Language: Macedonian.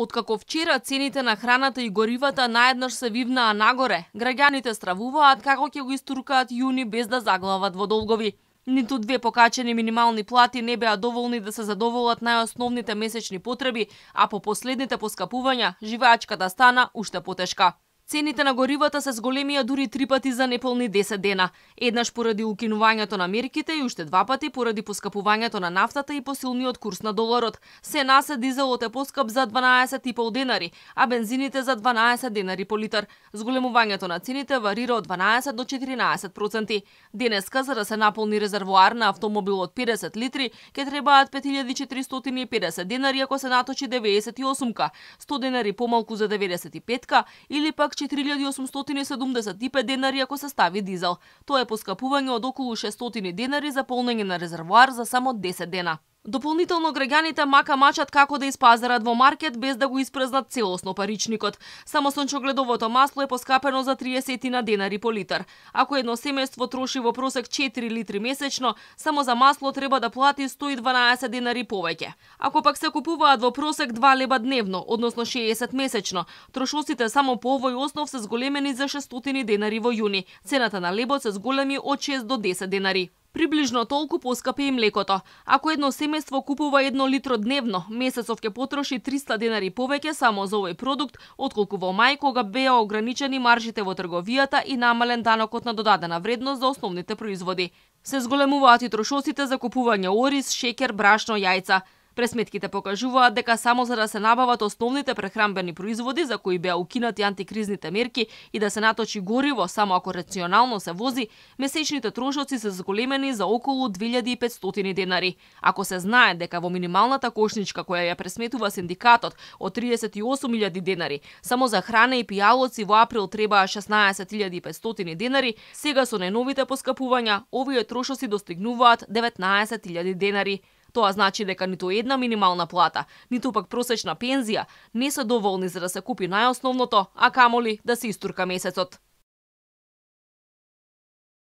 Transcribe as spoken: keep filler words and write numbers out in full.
Откако вчера цените на храната и горивата наеднаш се вивнаа нагоре, граѓаните стравуваат како ќе го истуркаат јуни без да заглават во долгови. Ниту две покачени минимални плати не беа доволни да се задоволат најосновните месечни потреби, а по последните поскапувања, живеачката стана уште потешка. Цените на горивата се зголемија дури три пати за неполни десет дена. Еднаш поради укинувањето на мерките и уште два пати поради поскапувањето на нафтата и посилниот курс на доларот. Се насе дизелот е поскап за дванаесет и пол денари, а бензините за дванаесет денари по литар. Зголемувањето на цените варира од дванаесет до четиринаесет проценти. Денеска, за да се наполни резервоар на автомобил од педесет литри, ќе требаат пет илјади четиристотини и педесет денари ако се наточи деветдесет и осумка, сто денари помалку за деветдесет и петка или пак четири илјади осумстотини и седумдесет и пет денари ако се стави дизел. Тоа е поскапување од околу шестстотини денари за полнење на резервоар за само десет дена. Дополнително граѓаните мака мачат како да испазарат во маркет без да го испразнат целосно паричникот. Само сончогледовото масло е поскапено за триесет денари по литар. Ако едно семејство троши во просек четири литри месечно, само за масло треба да плати сто и дванаесет денари повеќе. Ако пак се купуваат во просек два леба дневно, односно шеесет месечно, трошоците само по овој основ се зголемени за шестстотини денари во јуни. Цената на лебот се зголеми од шест до десет денари. Приближно толку поскапи и млекото. Ако едно семејство купува едно литро дневно, месецов ќе потроши триста денари повеќе само за овој продукт, отколку во мај кога беа ограничени маржите во трговијата и намален данокот на додадена вредност за основните производи. Се зголемуваат и трошоците за купување ориз, шеќер, брашно, јајца. Пресметките покажуваат дека само за да се набават основните прехранбени производи за кои беа укинати антикризните мерки и да се наточи гориво само ако рационално се вози, месечните трошоци се зголемени за околу две илјади и петстотини денари. Ако се знае дека во минималната кошничка која ја пресметува синдикатот од триесет и осум илјади денари, само за храна и пијалоци во април требаа шеснаесет илјади и петстотини денари, сега со најновите поскапувања овие трошоци достигнуваат деветнаесет илјади денари. Тоа значи дека ниту една минимална плата, ниту пак просечна пензија не се доволни за да се купи најосновното, а камоли да се истурка месецот.